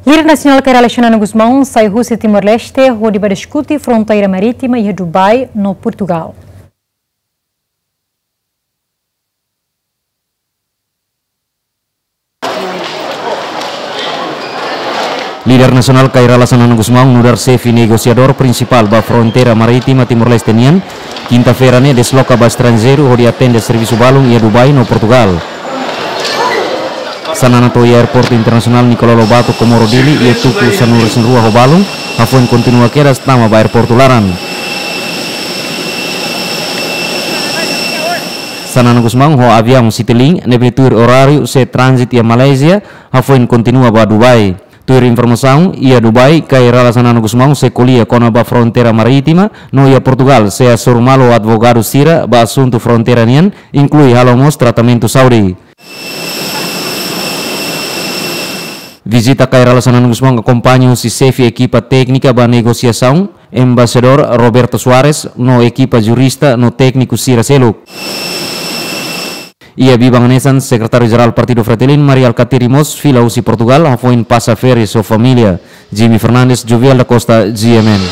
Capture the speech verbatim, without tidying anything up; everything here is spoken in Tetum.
Líder nasionál Kay Rala Xanana Gusmão sai husi Timor-Leste hodi ba diskute fronteira marítima iha Dubai no Portugal. Líder nasionál Kay Rala Xanana Gusmão nu'udar xefe negosiadór prinsipál ba fronteira marítima Timor-Leste nian, kinta-feira ne'e desloka ba estranjeiru hodi atende servisu balun iha Dubai no Portugal. Xanana to'o iha Aeroportu Internasionál Nicolau Lobato, Comoro Dili, iha tuku sanulu-resin-rua ho balun, hafoin kontinua kedas tama ba aeroportu laran. Xanana Gusmão ho aviaun Citilink, ne'ebé tuir oráriu sei tránzitu iha Malázia, hafoin kontinua ba Dubai. Tuir informasaun, iha Dubai, Kay Rala Xanana Gusmão sei ko'alia kona-ba fronteira marítima, no iha Portugal sei hasoru malu ho advogadu sira ba asuntu fronteira nian, inklui halo mós tratamentu saúde. Vizita Kay Rala Xanana Gusmão akompaña husi xefe ekipa téknika ba negosiasaun, Embaixadór Roberto Soares, no ekipa jurista no tékniku sira seluk. Iha biban hanesan, Sekretáriu Jerál Partidu Fretilin, Mari Alkatiri mós fila husi Portugal, hafoin pasa férias ho família. Jimmy Fernandes, Jovial da Costa, G M N.